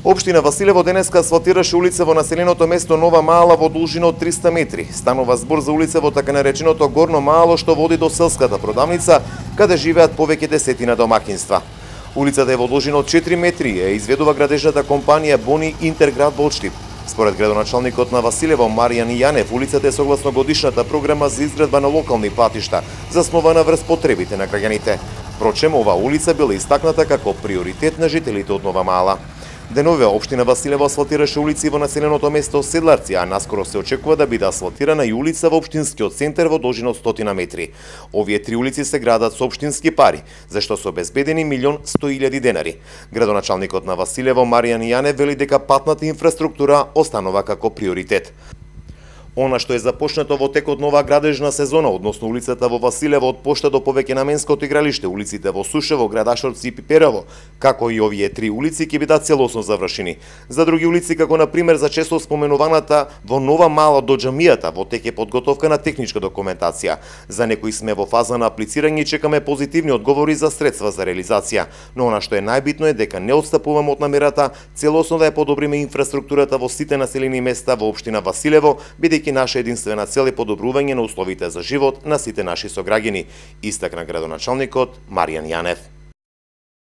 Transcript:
Општина Василево денеска асфалтираше улица во населеното место Нова Мала во должина од 300 метри. Станува збор за улица во така нареченото Горно Мало што води до селската продавница, каде живеат повеќе десетина домакинства. Улицата е во должина од 4 метри и изведува градежната компанија Бони Интерград Волштип. Според градоначалникот на Василево Маријан Јанев, улицата е согласно годишната програма за изградба на локални патишта, заснована врз потребите на граѓаните. Впрочем, оваа улица била истакната како приоритет на жителите од Нова Мала. Денове општина Василево асфалтираше улици во населеното место Седларци, а наскоро се очекува да биде асфалтирана и улица во општинскиот центар во должина од 100 метри. Овие три улици се градат со општински пари, зашто се обезбедени 1.100.000 денари. Градоначалникот на Василево Маријан Јанев вели дека патната инфраструктура останува како приоритет. Она што е започнато во текот на оваа градежна сезона, односно улицата во Василево од пошта до повеќе наменското игралиште, улиците во Сушево, Градашовци и Пиперово, како и овие три улици ќе бидат целосно завршени. За други улици, како на пример за често споменуваната во Нова Мала до џамијата, во тек е подготовка на техничка документација. За некои сме во фаза на аплицирање и чекаме позитивни одговори за средства за реализација. Но она што е најбитно е дека не отстапуваме од намерата целосно да ја подобриме инфраструктурата во сите населени места во општина Василево, бидејќи наша единствена цел е подобрување на условите за живот на сите наши сограѓани, истакна градоначалникот Маријан Јанев.